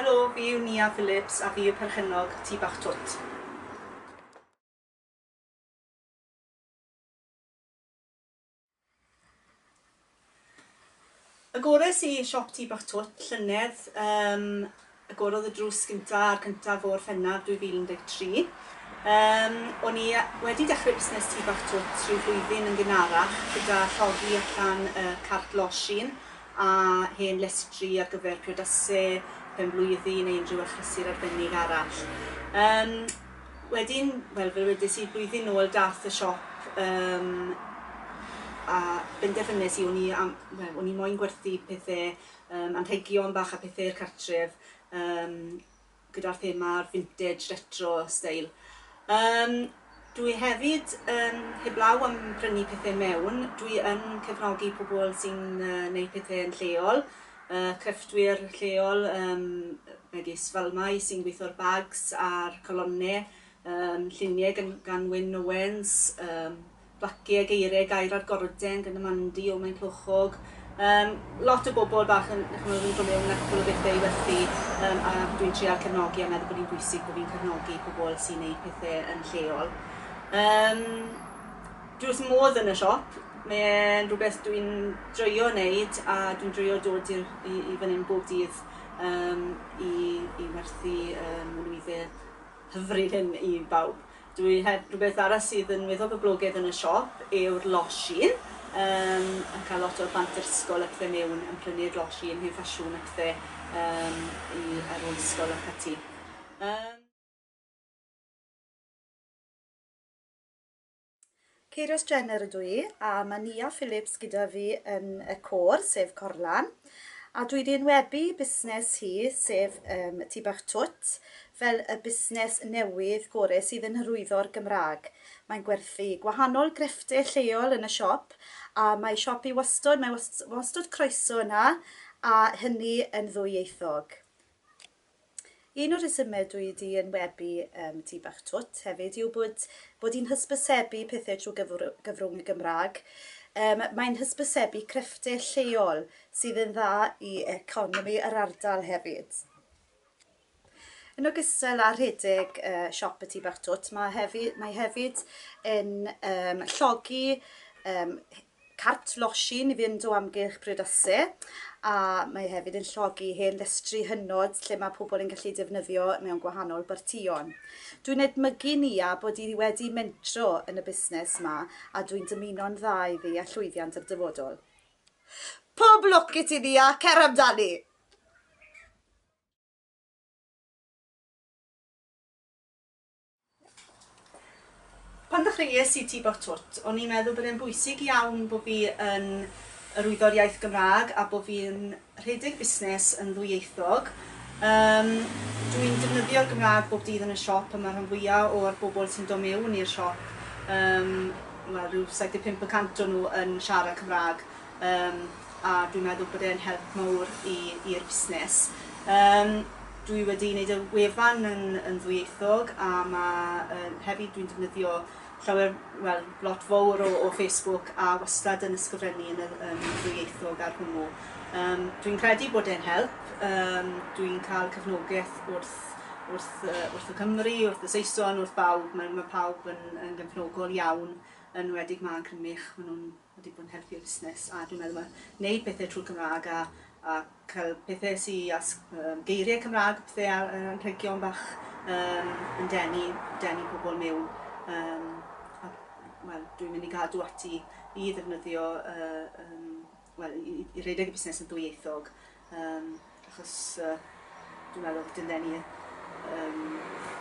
Helo, fi yw Nia Phillips a fi yw perchennog Tŷ Bach Twt. Agores i siop Tŷ Bach Twt llynedd, yym agorodd y drws gynta ar cyntaf o Orffennaf 2013. Yym o'n i wedi dechrau busnes Tŷ Bach Twt rhyw flwyddyn yn gynharach gyda llogi allan y cart losin a hen lestri ar gyfer priodase, penblwyddi neu unrhyw achlysur arbennig arall. Yym Wedyn, wel fel wedes i, blwyddyn nôl dath y siop yym a benderfynes i o'n i am, wel o'n i moyn gwerthu pethe yym anrhegion bach a pethe i'r cartref yym gyda'r thema'r vintage retro steil. Yym dwi hefyd yn, heblaw am prynu pethe mewn, dwi yn cefnogi pobl sy'n yy neud pethe yn lleol, yy crefftwyr lleol yym megis Falmai sy'n gweithio'r bags a'r colonne, yym llunie gan gan Wyn Owens, yym placie geirie gair ar gorden gan Amandi o Maenclochog. Yym lot o bobl bach yn ch'mod yn dod mewn â cwpwl o bethe i werthu yym a dwi'n trial cefnogi a meddwl bod hi'n bwysig bod fi'n cefnogi pobl sy'n neud pethe yn lleol. Yym dwi wrth 'y modd yn y siop, mae e'n rhywbeth dwi'n joio neud a dwi'n joio dod i'r i i fan 'yn bob dydd yym i i werthu yym y nwydde hyfryd hyn i bawb. Dwi heb rhywbeth arall sydd yn weddol boblogaidd yn y siop yw'r losin yym yn cael lot o'r plant yr ysgol a pethe mewn yn prynu'r losin hen ffasiwn a pethe yym i ar ôl ysgol ac ati. Yym. Ceirios Jenner ydw i, a mae Nia Phillips gyda fi yn y côr, sef Corlan. A dwi wedi enwebu busnes hi, sef um, Tŷ Bach Twt, fel y busnes newydd gore sydd yn hyrwyddo'r Gymraeg. Mae'n gwerthu gwahanol grefftau lleol yn y siop, a mae siop i wastod, mae wastod croeso yna, a hynny yn ddwyieithog. Un o'r rhesymau dwi 'di enwebu yym Tŷ Bach Twt hefyd yw bod bod hi'n hysbysebu pethau trwy gyfrw- gyfrwng y Gymraeg. Yym mae'n hysbysebu crefftau lleol sydd yn dda i economi yr ardal hefyd. Yn ogystal â rhedeg yy siop y Tŷ Bach Twt, ma' hefyd mae hefyd yn yym llogi yym cart losin i fynd o amgylch priodase a mae hefyd yn llogi hen lestri hynod lle mae pobl yn gallu defnyddio mewn gwahanol bartïon. Dwi'n edmygu Nia bod hi wedi mentro yn y busnes 'ma a dwi'n dymuno'n dda iddi a llwyddiant i'r dyfodol. Pob lwc i ti Nia, cer amdani! Pan ddechreuais i Tŷ Bach Twt, o'n i'n meddwl bod e'n bwysig iawn bod fi yn hyrwyddo'r iaith Gymraeg a bod fi'n rhedeg busnes yn ddwyieithog. Yym, dwi'n defnyddio'r Gymraeg bob dydd yn y siop a mae rhan fwya' o'r bobl sy'n dod mewn i'r siop, yym, wel rhyw 75 y cant o nhw yn siarad Cymraeg. Yym a dwi'n meddwl bod e'n help mawr i i'r busnes. Yym dwi wedi wneud y wefan yn yn ddwyieithog a ma' yy hefyd dwi'n defnyddio llawer, wel, lot fowr o o Facebook a wastad yn ysgrifennu yn y yn ddwyieithog ar hwnnw. Yym dwi'n credu bod e'n help, yym dwi'n cael cefnogaeth wrth wrth yy wrth y Cymry, wrth y Saeson, wrth bawb, mae ma' pawb yn yn gefnogol iawn, yn enwedig 'ma yn Crymych, ma' nhw'n wedi bod yn helpu'r busnes a dwi'n meddwl ma' wneud pethe trwy'r Cymraeg a a cael pethe sy â s- yym geiriau Cymraeg a pethe ar yy anrhegion bach yym yn denu denu pobl mewn yym a wel dwi'n mynd i gadw ati i ddefnyddio yy yym wel i i i redeg y busnes yn ddwyieithog Yym, achos yy dwi'n meddwl dylen ni yym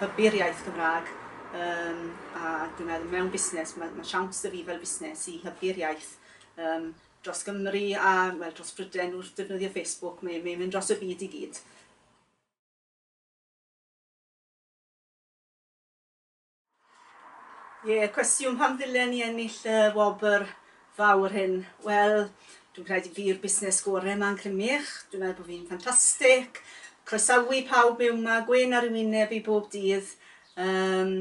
hybu'r iaith Gymraeg yym a dwi'n meddwl mewn busnes ma' ma' siawns 'da fi fel busnes i hybu'r iaith yym dros Gymru a wel dros Brydain wrth defnyddio Facebook, mae mae'n mynd dros y byd i gyd. Ie, cwestiwn pam ddylen ni ennill y wobr fawr hyn? Wel, dwi'n credu fi yw'r busnes gore 'ma yn Crymych, dwi'n meddwl bod fi'n ffantastig, croesawu pawb mewn 'ma, gwên ar y wyneb i bob dydd, yym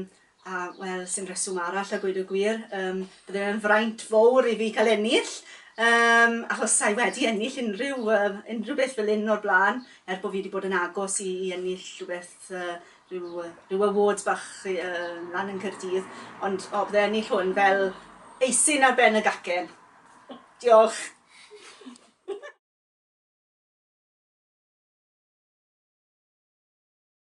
a wel, sim rheswm arall a gweud y gwir, yym bydde fe'n fraint fowr i fi cael ennill. Achos sa'i wedi ennill unrhyw, unrhyw beth fel un o'r blaen, er bod fi wedi bod yn agos i ennill rhywbeth, rhyw awards bach lan yn Caerdydd, ond o, bydde ennill hwn fel eisin ar ben y gacen. Diolch.